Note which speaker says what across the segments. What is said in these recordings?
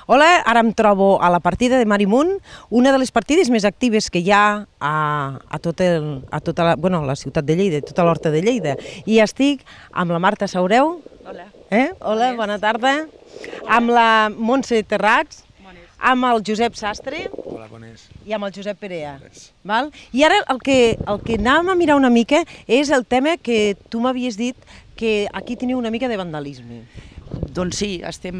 Speaker 1: Hola, ara em trobo a la partida de Marimunt, una de les partides més actives que hi ha a tota la ciutat de Lleida, a tota l'horta de Lleida. I estic amb la Marta Saureu.
Speaker 2: Hola.
Speaker 1: Hola, bona tarda. Amb la Montse Terrats, amb el Josep Sastre.
Speaker 3: Hola, bones.
Speaker 1: I amb el Josep Perea. I ara el que anàvem a mirar una mica és el tema que tu m'havies dit que aquí teniu una mica de vandalisme.
Speaker 2: Doncs sí, estem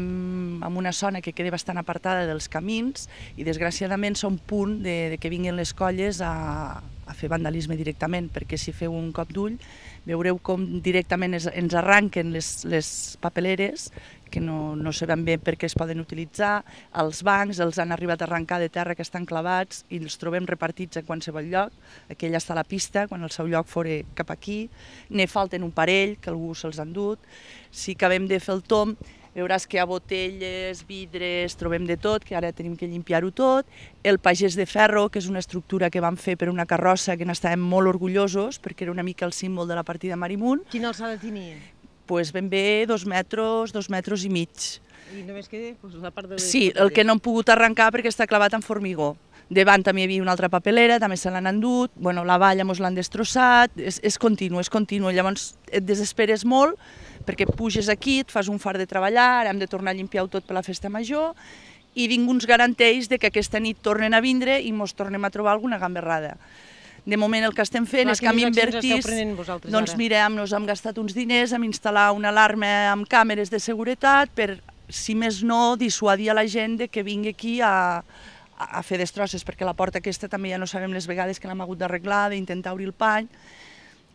Speaker 2: en una zona que queda bastant apartada dels camins i desgraciadament som punt de que vinguin les colles a fer vandalisme directament, perquè si feu un cop d'ull veureu com directament ens arranquen les papeleres que no sabem bé per què es poden utilitzar, els bancs els han arribat a arrencar de terra que estan clavats i els trobem repartits a qualsevol lloc, aquella està a la pista, quan el seu lloc fora cap aquí, ne falten un parell que algú se'ls ha endut, si acabem de fer el tomb veuràs que hi ha botelles, vidres, trobem de tot, que ara tenim que limpiar-ho tot, el pagès de ferro, que és una estructura que vam fer per una carrossa que n'estàvem molt orgullosos perquè era una mica el símbol de la partida Marimunt.
Speaker 1: Quina alçada tenia?
Speaker 2: Doncs ben bé 2 metres i mig.
Speaker 1: I només queda la part de...
Speaker 2: Sí, el que no hem pogut arrencar perquè està clavat en formigó. Davant també hi havia una altra papelera, també se l'han endut, la valla ens l'han destrossat, és continu, llavors et desesperes molt perquè puges aquí, et fas un fart de treballar, ara hem de tornar a limpiar-ho tot per la festa major i ningú ens garanteix que aquesta nit tornen a vindre i ens tornem a trobar alguna gamberrada. De moment el que estem fent és que hem invertit, doncs mira, nos hem gastat uns diners en instal·lar una alarma amb càmeres de seguretat per, si més no, dissuadir a la gent que vingui aquí a fer destrosses, perquè la porta aquesta també ja no sabem les vegades que l'hem hagut d'arreglar, d'intentar obrir el pany,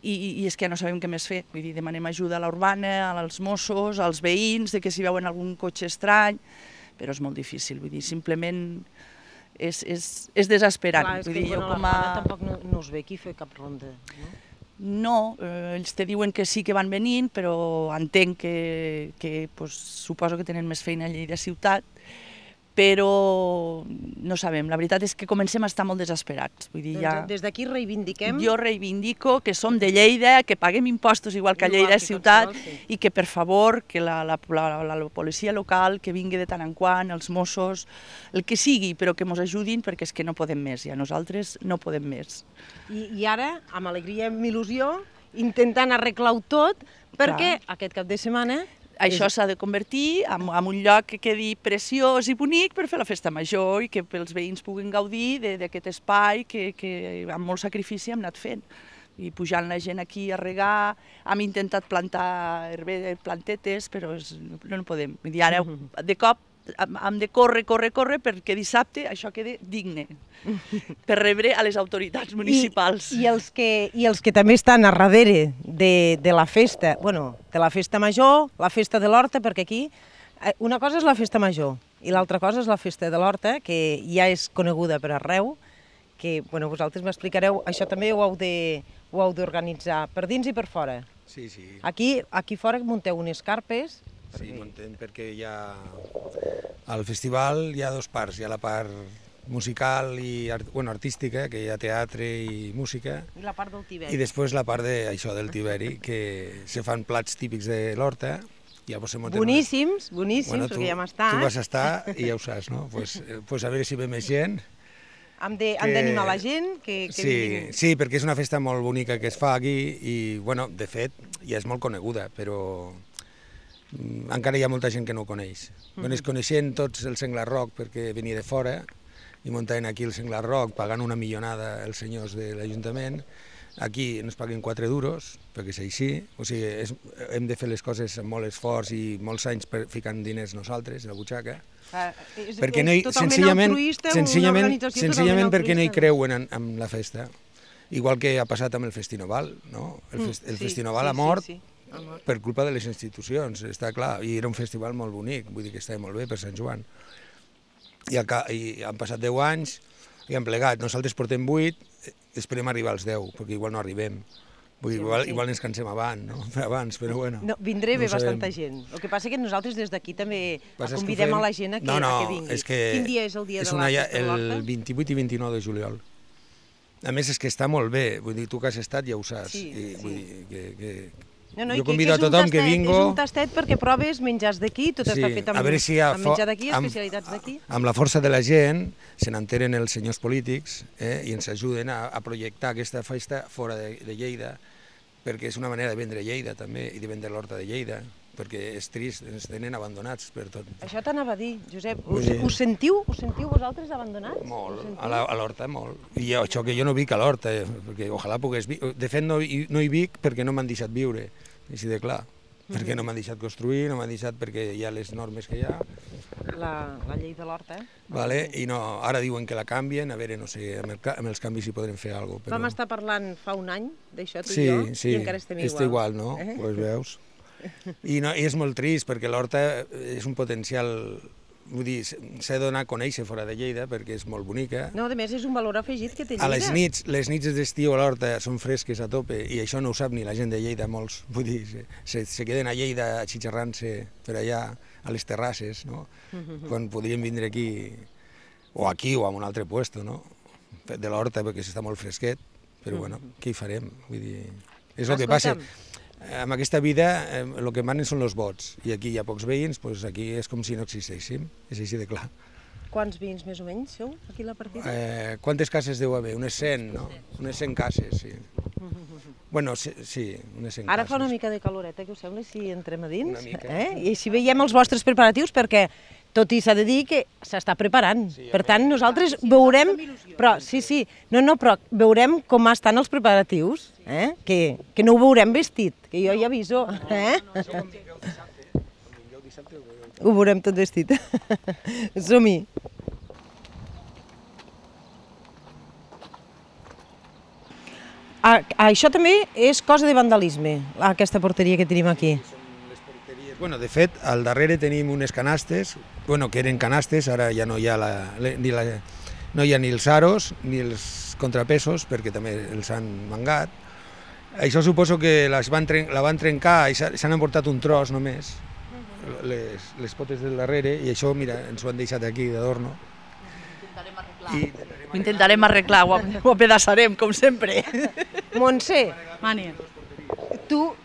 Speaker 2: i és que ja no sabem què més fer. Vull dir, demanem ajuda a l'urbana, als Mossos, als veïns, que si veuen algun cotxe estrany, però és molt difícil, vull dir, simplement és desesperant.
Speaker 1: Clar, és que l'urbana tampoc no us ve aquí a fer cap ronda, no?
Speaker 2: No, ells te diuen que sí que van venint, però entenc que suposo que tenen més feina a Lleida ciutat, però no sabem, la veritat és que comencem a estar molt desesperats.
Speaker 1: Des d'aquí reivindiquem...
Speaker 2: Jo reivindico que som de Lleida, que paguem impostos igual que a Lleida ciutat i que per favor que la policia local que vingui de tant en quant, els Mossos, el que sigui, però que ens ajudin perquè és que no podem més, ja nosaltres no podem més.
Speaker 1: I ara, amb alegria i amb il·lusió, intentant arreglar-ho tot, perquè aquest cap de setmana...
Speaker 2: Això s'ha de convertir en un lloc que quedi preciós i bonic per fer la festa major i que els veïns puguin gaudir d'aquest espai que amb molt sacrifici hem anat fent. I pujant la gent aquí a regar, hem intentat plantar plantetes, però no podem. Vull dir, ara de cop hem de córrer perquè dissabte això quedi digne per rebre a les autoritats municipals.
Speaker 1: I els que també estan a darrere de la festa, de la festa major, la festa de l'Horta, perquè aquí una cosa és la festa major i l'altra cosa és la festa de l'Horta, que ja és coneguda per arreu, que vosaltres m'explicareu, això també ho heu d'organitzar per dins i per fora.
Speaker 3: Sí, sí.
Speaker 1: Aquí fora munteu unes carpes.
Speaker 3: Sí, muntem perquè hi ha... Al festival hi ha dues parts, hi ha la part musical i artística, que hi ha teatre i música.
Speaker 1: I la part del Tiberi.
Speaker 3: I després la part del Tiberi, que se fan plats típics de l'Horta.
Speaker 1: Boníssims, perquè ja hem estat.
Speaker 3: Tu vas estar i ja ho saps, no? Pues a veure si ve més gent.
Speaker 1: Hem d'animar la gent que vinguin. Sí,
Speaker 3: perquè és una festa molt bonica que es fa aquí i, de fet, ja és molt coneguda, però encara hi ha molta gent que no ho coneix. Es coneixen tots el Senglar Rock perquè venia de fora i muntaven aquí el Senglar Rock pagant una millonada els senyors de l'Ajuntament. Aquí ens paguen 4 duros, perquè és així. O sigui, hem de fer les coses amb molt esforç i molts anys ficant diners nosaltres, a la butxaca. Perquè senzillament perquè no hi creuen en la festa. Igual que ha passat amb el Festinoval, no? El Festinoval ha mort per culpa de les institucions, està clar, i era un festival molt bonic, vull dir que estava molt bé per Sant Joan. I han passat 10 anys i han plegat, nosaltres portem 8, esperem arribar als 10, perquè igual no arribem. Igual ens cansem abans, però bueno.
Speaker 1: Vindré bé bastanta gent. El que passa és que nosaltres des d'aquí també convidem a la gent a que vingui. Quin dia és el dia de la festa de l'Horta?
Speaker 3: El 28 i 29 de juliol. A més és que està molt bé, vull dir, tu que has estat ja ho saps. Jo convido a tothom que vingo.
Speaker 1: És un tastet perquè proves menjars d'aquí, tot està fet amb menjar d'aquí, especialitats d'aquí.
Speaker 3: Amb la força de la gent se n'enteren els senyors polítics i ens ajuden a projectar aquesta festa fora de Lleida, perquè és una manera de vendre Lleida també i de vendre l'horta de Lleida, perquè és trist, ens tenen abandonats per tot.
Speaker 1: Això t'anava a dir, Josep, us sentiu vosaltres abandonats?
Speaker 3: Molt, a l'horta molt. I això que jo no vic a l'horta, perquè ojalà pogués viure. De fet no hi vic perquè no m'han deixat viure, així de clar. Perquè no m'han deixat construir, no m'han deixat perquè hi ha les normes que hi ha.
Speaker 1: La llei de l'horta,
Speaker 3: I ara diuen que la canvien, a veure, no sé, amb els canvis hi podrem fer alguna cosa.
Speaker 1: Vam estar parlant fa un any d'això, tu i jo, i encara estem igual.
Speaker 3: Sí, està igual, no? Pues veus. I és molt trist perquè l'horta és un potencial, vull dir, s'ha de donar a conèixer fora de Lleida perquè és molt bonica.
Speaker 1: No, a més és un valor afegit que té Lleida.
Speaker 3: A les nits d'estiu a l'horta són fresques a tope i això no ho sap ni la gent de Lleida, molts, vull dir, se queden a Lleida xitxarrant-se per allà a les terrasses, no? Quan podríem vindre aquí, o aquí o a un altre puesto, no? De l'horta perquè s'està molt fresquet, però bueno, què hi farem? Vull dir, és el que passa. En aquesta vida el que manen són els vots i aquí hi ha pocs veïns, doncs aquí és com si no existeixin, és així de clar.
Speaker 1: Quants veïns més o menys sou aquí a la partida?
Speaker 3: Quantes cases deu haver? Unes 100, no? Unes 100 cases, sí. Bueno, sí, unes 100 cases.
Speaker 1: Ara fa una mica de caloreta, què us sembla si entrem a dins?
Speaker 3: Una mica.
Speaker 1: I així veiem els vostres preparatius perquè tot i s'ha de dir que s'està preparant. Per tant, nosaltres veurem... Però, però veurem com estan els preparatius, que no ho veurem vestit, que jo ja aviso. Ho veurem tot vestit. Som-hi. Això també és cosa de vandalisme, aquesta porteria que tenim aquí.
Speaker 3: Bueno, de fet, al darrere tenim unes canastes, que eren canastes, ara ja no hi ha ni els aros ni els contrapesos, perquè també els han mangat. Això suposo que la van trencar i s'han emportat un tros només, les potes del darrere, i això, mira, ens ho han deixat aquí d'adorno.
Speaker 2: Ho intentarem arreglar, ho apedaçarem, com sempre.
Speaker 1: Montse,
Speaker 2: Mani.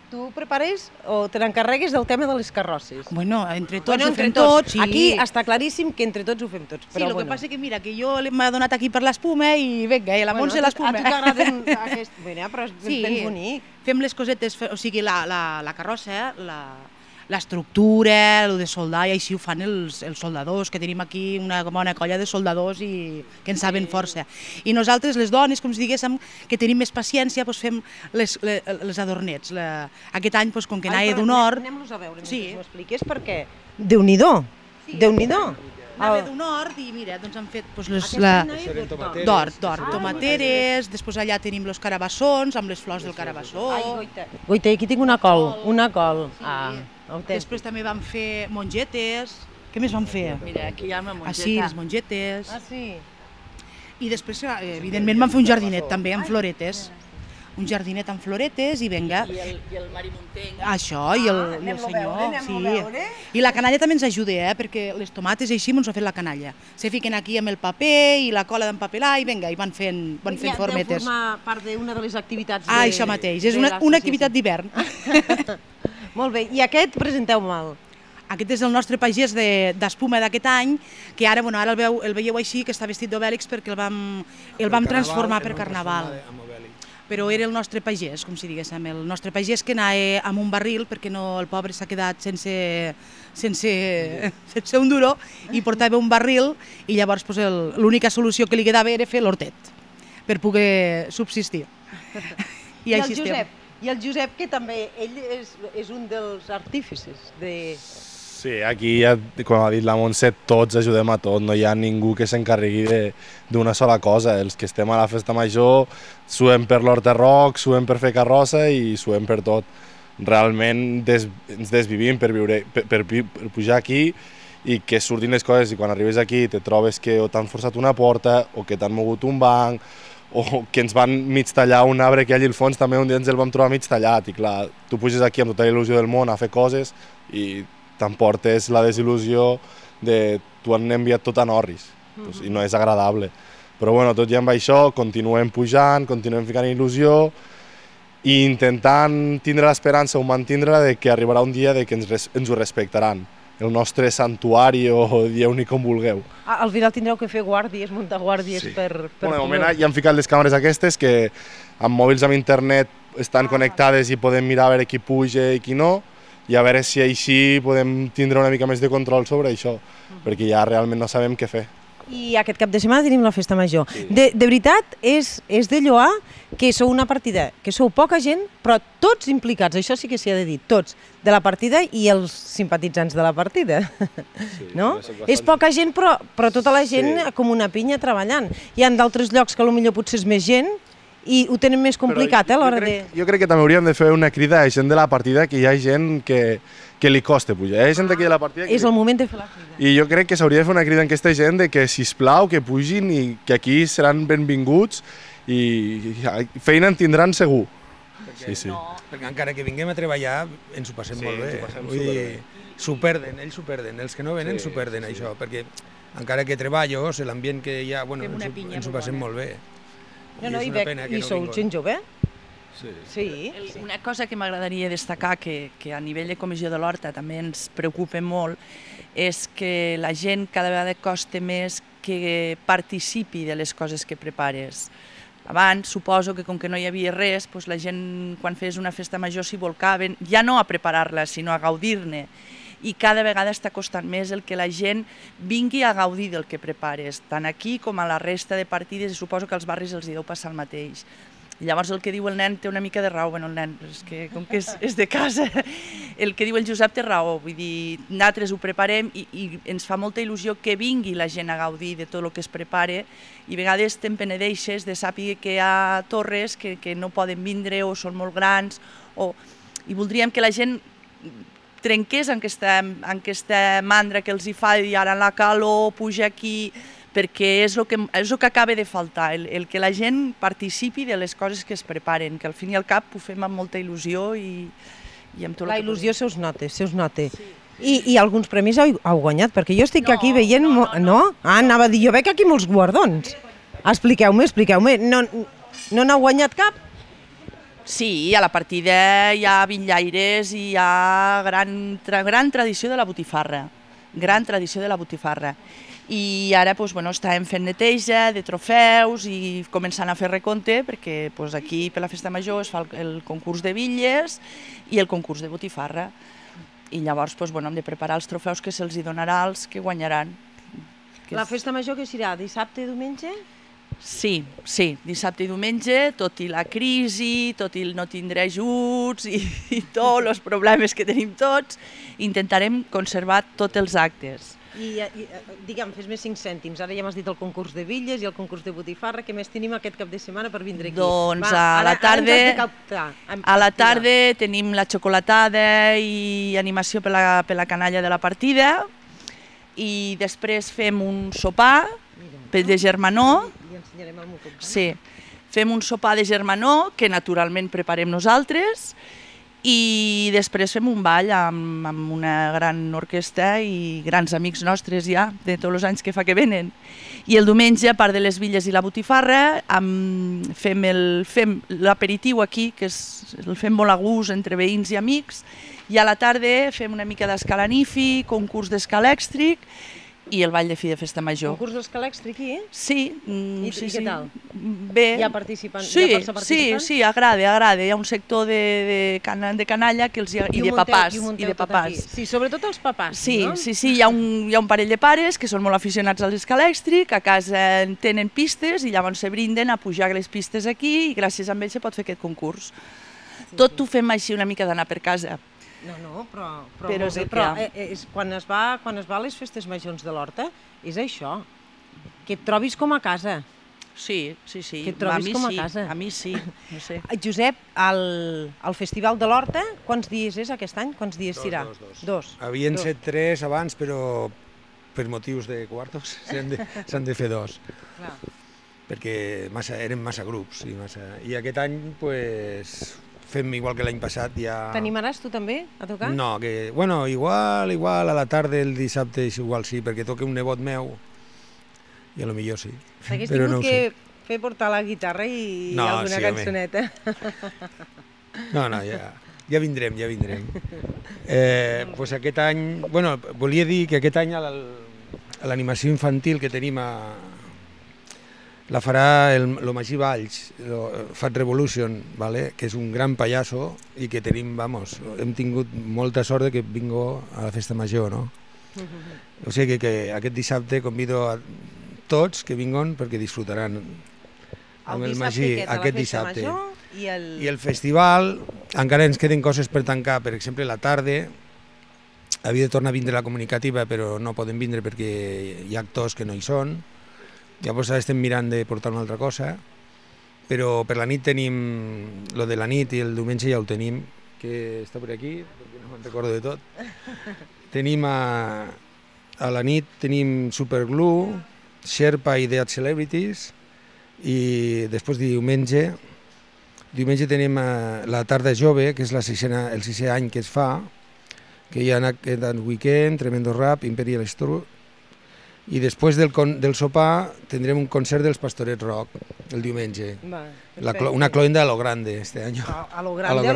Speaker 1: tu prepares o te n'encarregues del tema de les carrosses?
Speaker 4: Bueno, entre tots ho fem tots.
Speaker 1: Aquí està claríssim que entre tots ho fem tots.
Speaker 4: Sí, el que passa que mira, que jo m'ha donat aquí per l'espuma i vinga, la Montse l'espuma.
Speaker 1: A tu t'agraden aquest... Però és ben bonic.
Speaker 4: Fem les cosetes, o sigui, la carrossa, l'estructura, el de soldar, i així ho fan els soldadors, que tenim aquí una bona colla de soldadors i que en saben força. I nosaltres, les dones, com si diguéssim, que tenim més paciència, doncs fem les adornets. Aquest any, com que anava d'honor...
Speaker 1: Anem-los a veure, mentre m'ho expliques, perquè... Déu-n'hi-do, Déu-n'hi-do.
Speaker 4: Anava d'honor i mira, doncs han fet d'or, tomateres, després allà tenim els carabassons, amb les flors del carabassó.
Speaker 1: Goita, aquí tinc una col,
Speaker 4: Després també vam fer mongetes. Què més vam fer?
Speaker 2: Mira, aquí hi ha una mongeta.
Speaker 4: Ah, sí, les mongetes.
Speaker 1: Ah, sí?
Speaker 4: I després, evidentment, vam fer un jardinet també amb floretes. Un jardinet amb floretes i vinga.
Speaker 2: I el marimuntenc.
Speaker 4: Això, i el senyor. Sí. I la canalla també ens ajuda, perquè les tomates així ens ho ha fet la canalla. Se fiquen aquí amb el paper i la cola d'empapelar i vinga, i van fent formetes.
Speaker 1: Deu formar part d'una de les activitats
Speaker 4: Ah, això mateix, és una activitat d'hivern.
Speaker 1: Molt bé, i aquest presenteu-me'l.
Speaker 4: Aquest és el nostre pagès d'espuma d'aquest any, que ara el veieu així, que està vestit d'Obèlix perquè el vam transformar per Carnaval. Però era el nostre pagès, com si diguéssim, el nostre pagès que anava amb un barril perquè el pobre s'ha quedat sense un duro i portava un barril i llavors l'única solució que li quedava era fer l'hortet per poder subsistir.
Speaker 1: I així estem. I el Josep, que també, ell és un dels artífices de...
Speaker 5: Sí, aquí, com ha dit la Montse, tots ajudem a tot, no hi ha ningú que s'encarregui d'una sola cosa. Els que estem a la festa major suem per l'Horta Rock, suem per fer carrossa i suem per tot. Realment ens desvivim per pujar aquí i que surtin les coses, i quan arribes aquí te trobes que o t'han forçat una porta o que t'han mogut un banc o que ens van mig tallar un arbre que allà al fons també un dia ens el vam trobar mig tallat i clar, tu puges aquí amb tota la il·lusió del món a fer coses i t'emportes la desil·lusió de tu han enviat tot en orris i no és agradable. Però bueno, tot i amb això continuem pujant, continuem ficant il·lusió i intentant tindre l'esperança o mantindre-la de que arribarà un dia de que ens ho respectaran. El nostre santuari o dieu-n'hi com vulgueu.
Speaker 1: Al final tindreu que fer guàrdies, muntar guàrdies per...
Speaker 5: De moment ja han ficat les càmeres aquestes que amb mòbils amb internet estan connectades i podem mirar a veure qui puja i qui no, i a veure si així podem tindre una mica més de control sobre això, perquè ja realment no sabem què fer.
Speaker 1: I aquest cap de setmana tenim la festa major. De veritat, és de lloar que sou una partida, que sou poca gent, però tots implicats, això sí que s'hi ha de dir, tots, de la partida i els simpatitzants de la partida. No? És poca gent, però tota la gent com una pinya treballant. Hi ha d'altres llocs que potser potser és més gent i ho tenen més complicat a l'hora de...
Speaker 5: Jo crec que també hauríem de fer una crida a gent de la partida, que hi ha gent que li costa pujar. Hi ha gent d'aquí de la partida...
Speaker 1: És el moment de fer la crida.
Speaker 5: I jo crec que s'hauria de fer una crida a aquesta gent de que, sisplau, que pugin i que aquí seran benvinguts i feina en tindran segur.
Speaker 3: Perquè encara que vinguem a treballar ens ho passem molt bé. Vull dir, s'ho perden, ells s'ho perden, els que no venen s'ho perden això, perquè encara que treballo, l'ambient que hi ha, ens ho passem molt bé.
Speaker 1: I sou gent jove? Sí.
Speaker 2: Una cosa que m'agradaria destacar, que a nivell de Comissió de l'Horta també ens preocupa molt, és que la gent cada vegada costa més que participi de les coses que prepares. Abans, suposo que com que no hi havia res, la gent quan fes una festa major s'hi volcaven, ja no a preparar-la, sinó a gaudir-ne. I cada vegada està costant més el que la gent vingui a gaudir del que prepares, tant aquí com a la resta de partides, i suposo que als barris els hi deu passar el mateix. Llavors el que diu el nen té una mica de raó, el nen, és que com que és de casa, el que diu el Josep té raó, vull dir, nosaltres ho preparem i ens fa molta il·lusió que vingui la gent a gaudir de tot el que es prepare, i a vegades te'n penedeixes de saber que hi ha torres que no poden vindre o són molt grans, i voldríem que la gent trenqués en aquesta mandra que els hi fa i ara en la calor puja aquí, perquè és el que acaba de faltar, el que la gent participi de les coses que es preparen, que al fin i al cap ho fem amb molta il·lusió i amb tot el que...
Speaker 1: La il·lusió se us nota. I alguns premis heu guanyat, perquè jo estic aquí veient... No? Anava a dir, jo veig aquí molts guardons. Expliqueu-me. No n'heu guanyat cap?
Speaker 2: Sí, a la partida hi ha bitllaires i hi ha gran tradició de la botifarra. I ara estàvem fent neteja de trofeus i començant a fer recompte, perquè aquí per la festa major es fa el concurs de bitlles i el concurs de botifarra. I llavors hem de preparar els trofeus que se'ls donarà als que guanyaran.
Speaker 1: La festa major que serà dissabte i diumenge?
Speaker 2: Sí, dissabte i diumenge, tot i la crisi, tot i no tindre ajuts i tots els problemes que tenim tots, intentarem conservar tots els actes.
Speaker 1: I digue'm, fes més 5 cèntims, ara ja m'has dit el concurs de bitlles i el concurs de botifarra, què més tenim aquest cap de setmana per vindre aquí?
Speaker 2: Doncs a la tarda tenim la xocolatada i animació per la canalla de la partida, i després fem un sopar de germanor. Sí, fem un sopar de germanor que naturalment preparem nosaltres, i després fem un ball amb una gran orquestra i grans amics nostres ja, de tots els anys que fa que venen. I el diumenge, a part de les bitlles i la botifarra, fem l'aperitiu aquí, que el fem molt a gust entre veïns i amics, i a la tarda fem una mica d'escalanifi, concurs d'escalèxtric, i el ball de fi de festa major.
Speaker 1: Concurs d'escalèxtric aquí?
Speaker 2: Sí.
Speaker 1: I què tal?
Speaker 2: Bé.
Speaker 1: Hi ha participants? Sí,
Speaker 2: agrada. Hi ha un sector de canalla i de papàs.
Speaker 1: Sí, sobretot els papàs, no?
Speaker 2: Sí, hi ha un parell de pares que són molt aficionats a l'escalèxtric, a casa tenen pistes i llavors se brinden a pujar les pistes aquí i gràcies a ells se pot fer aquest concurs. Tot ho fem així una mica d'anar per casa.
Speaker 1: No, però quan es va a les festes majors de l'Horta, és això, que et trobis com a casa.
Speaker 2: Sí.
Speaker 1: Que et trobis com a casa.
Speaker 2: A mi sí, no sé.
Speaker 1: Josep, el Festival de l'Horta, quants dies és aquest any? Quants dies serà? Dos.
Speaker 3: Havien set 3 abans, però per motius de quartos s'han de fer 2. Perquè eren massa grups. I aquest any, doncs... fem igual que l'any passat, ja...
Speaker 1: T'animaràs tu també a tocar?
Speaker 3: No, igual, a la tarda el dissabte igual sí, perquè toca un nebot meu, i a lo millor sí.
Speaker 1: S'hagués tingut fer portar la guitarra i alguna cançoneta.
Speaker 3: No, ja vindrem, ja vindrem. Pues aquest any, bueno, volia dir que aquest any l'animació infantil que tenim la farà el Magí Valls, Fat Revolution, que és un gran pallasso i que tenim, hem tingut molta sort que vingo a la festa major, no? O sigui que aquest dissabte convido a tots que vinguin perquè disfrutaran amb el Magí aquest dissabte. I el festival, encara ens queden coses per tancar, per exemple la tarda havia de tornar a vindre la comunicativa però no poden vindre perquè hi ha actors que no hi són, llavors ara estem mirant de portar una altra cosa, però per la nit tenim, lo de la nit i el diumenge ja ho tenim, que està per aquí, perquè no me'n recordo de tot. Tenim a la nit tenim Superglue, Sherpa i Dead Celebrities i després diumenge tenim la Tarda Jove, que és el 6è any que es fa, que hi ha aquest Weekend, Tremendo Rap, Imperial Stru, i després del sopar tindrem un concert dels Pastorets Rock el diumenge. Una cloenda a lo grande este año.
Speaker 1: A lo grande.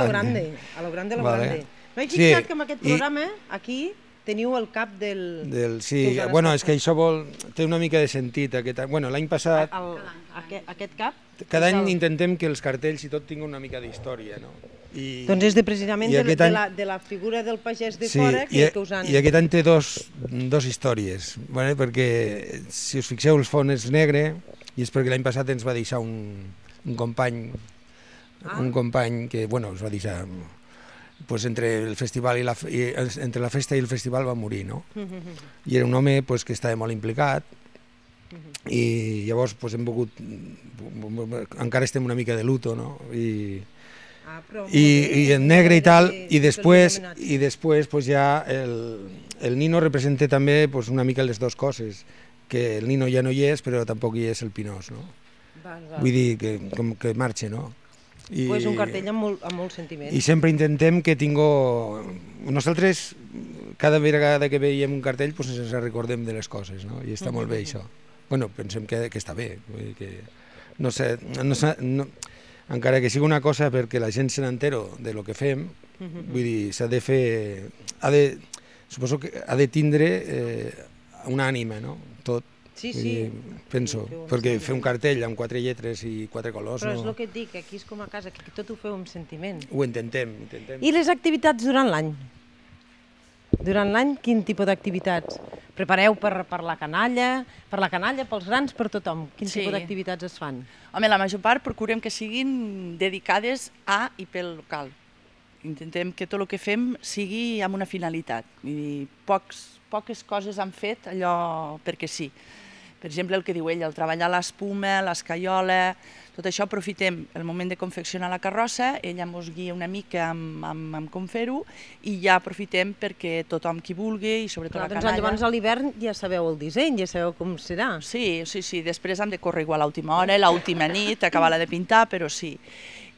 Speaker 1: No he fixat que en aquest programa aquí teniu el cap del...
Speaker 3: Sí, bueno, és que això té una mica de sentit. Bueno, l'any passat...
Speaker 1: Aquest cap?
Speaker 3: Cada any intentem que els cartells i tot tinguin una mica d'història, no?
Speaker 1: Doncs és precisament de la figura del pagès de fora que us han...
Speaker 3: I aquest any té dos històries, perquè si us fixeu el fons és negre i és perquè l'any passat ens va deixar un company que, bueno, ens va deixar... entre la festa i el festival va morir, no? I era un home que estava molt implicat i llavors hem volgut... Encara estem una mica de luto, no? I en negre i tal, i després ja el Nino representa també una mica les dues coses, que el Nino ja no hi és, però tampoc hi és el Pinós, no? Vull dir que marxa, no?
Speaker 1: Un cartell amb molt sentiment.
Speaker 3: I sempre intentem que nosaltres, cada vegada que veiem un cartell, ens recordem de les coses, no? I està molt bé això. Bueno, pensem que està bé, no sé, encara que sigui una cosa perquè la gent se n'entero de lo que fem, vull dir, s'ha de fer, suposo que ha de tindre una ànima, no? Tot.
Speaker 1: Sí.
Speaker 3: Penso, perquè fer un cartell amb 4 lletres i 4 colors...
Speaker 1: Però és el que et dic, aquí és com a casa, que tot ho feu amb sentiment.
Speaker 3: Ho intentem.
Speaker 1: I les activitats durant l'any? Durant l'any, quin tipus d'activitats? Prepareu per la canalla, pels grans, per tothom? Quin tipus d'activitats es fan?
Speaker 2: Home, la major part procurem que siguin dedicades a i pel local. Intentem que tot el que fem sigui amb una finalitat. Vull dir, poques coses han fet allò perquè sí. Per exemple, el que diu ell, el treballar l'espuma, l'escaiola, tot això aprofitem el moment de confeccionar la carrossa, ella ens guia una mica amb com fer-ho i ja aprofitem perquè tothom qui vulgui i sobretot la canalla...
Speaker 1: Llavors a l'hivern ja sabeu el disseny, ja sabeu com serà.
Speaker 2: Sí, després hem de córrer igual a l'última hora, l'última nit, acabar-la de pintar, però sí.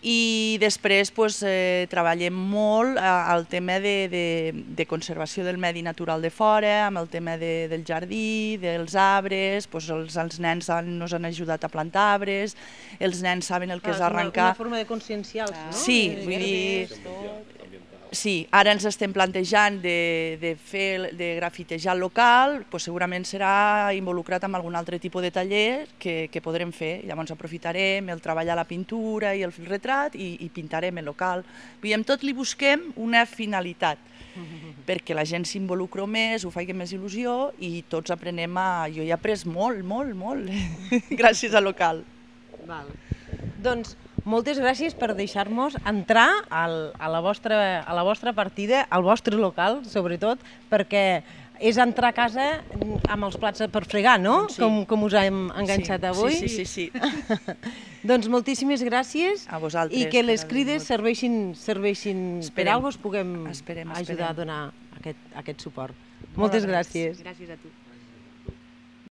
Speaker 2: I després treballem molt el tema de conservació del medi natural de fora, amb el tema del jardí, dels arbres, els nens ens han ajudat a plantar arbres, els nens saben el que és arrencar...
Speaker 1: Una forma de conscienciar-los, no?
Speaker 2: Sí, vull dir... Sí, ara ens estem plantejant de grafitejar el local, segurament serà involucrat en algun altre tipus de taller que podrem fer. Llavors aprofitarem el treballar la pintura i el retrat i pintarem el local. Amb tot li busquem una finalitat, perquè la gent s'involucra més, ho faci més il·lusió i tots aprenem Jo he après molt, gràcies al local.
Speaker 1: Doncs moltes gràcies per deixar-nos entrar a la vostra partida, al vostre local, sobretot, perquè és entrar a casa amb els plats per fregar, no? Com us hem enganxat avui.
Speaker 2: Sí.
Speaker 1: Doncs moltíssimes gràcies i que les crides serveixin per alguna cosa, us puguem ajudar a donar aquest suport. Moltes gràcies.
Speaker 2: Gràcies a tu.